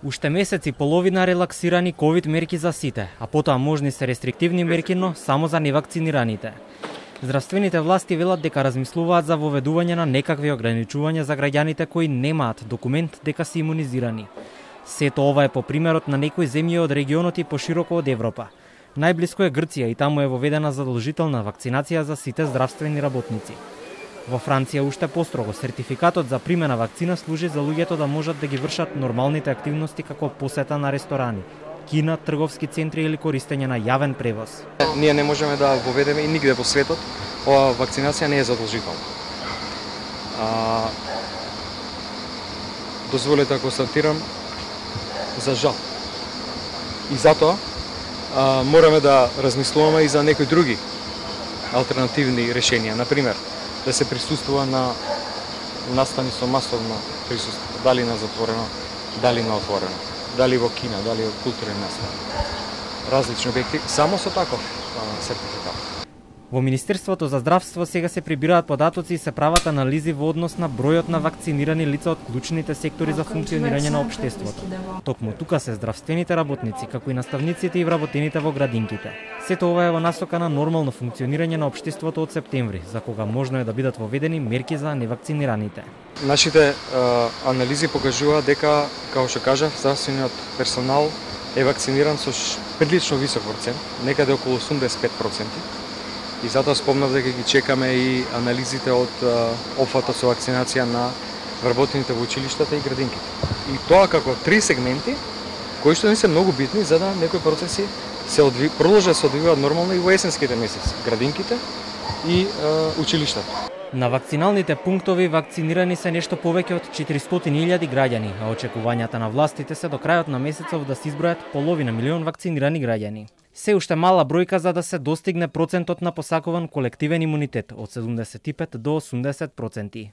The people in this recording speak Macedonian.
Уште месец и половина релаксирани ковид мерки за сите, а потоа можни се рестриктивни мерки, но само за невакцинираните. Здравствените власти велат дека размислуваат за воведување на некакви ограничувања за граѓаните кои немаат документ дека се имунизирани. Сето ова е по примерот на некои земји од регионот и пошироко од Европа. Најблиско е Грција и таму е воведена задолжителна вакцинација за сите здравствени работници. Во Франција уште построго сертификатот за примена вакцина служи за луѓето да можат да ги вршат нормалните активности како посета на ресторани, кина, трговски центри или користење на јавен превоз. Ние не можеме да воведеме и нигде во светот, ова вакцинација не е задолжителна. Дозволете да констатирам за жал. И затоа мораме да размислуваме и за некои други алтернативни решенија, например да се присуствува на настани со масовно присуство, дали на затворено, дали на отворено, дали во кина, дали во културни настани. Различни објекти, само со таков сертификат. Во Министерството за здравство сега се прибираат податоци и се прават анализи во однос на бројот на вакцинирани лица од клучните сектори за функционирање на општеството. Токму тука се здравствените работници, како и наставниците и вработените во градинките. Сето ова е во насока на нормално функционирање на општеството од септември, за кога можно е да бидат воведени мерки за невакцинираните. Нашите анализи покажуваат дека, како што кажав, здравствениот персонал е вакциниран со прилично висок процент, некаде околу 85%. И затоа спомнав дека ги чекаме и анализите од опфатот со вакцинација на вработените во училиштата и градинките. И тоа како три сегменти кои што не се многу битни за да некои процеси се продолжат да се одвиваат нормално и во есенските месеци, градинките и училиштата. На вакциналните пунктови вакцинирани се нешто повеќе од 400.000 граѓани, а очекувањата на властите се до крајот на месецов да се избројат половина милион вакцинирани граѓани. Се уште мала бројка за да се достигне процентот на посакуван колективен имунитет од 75 до 80%.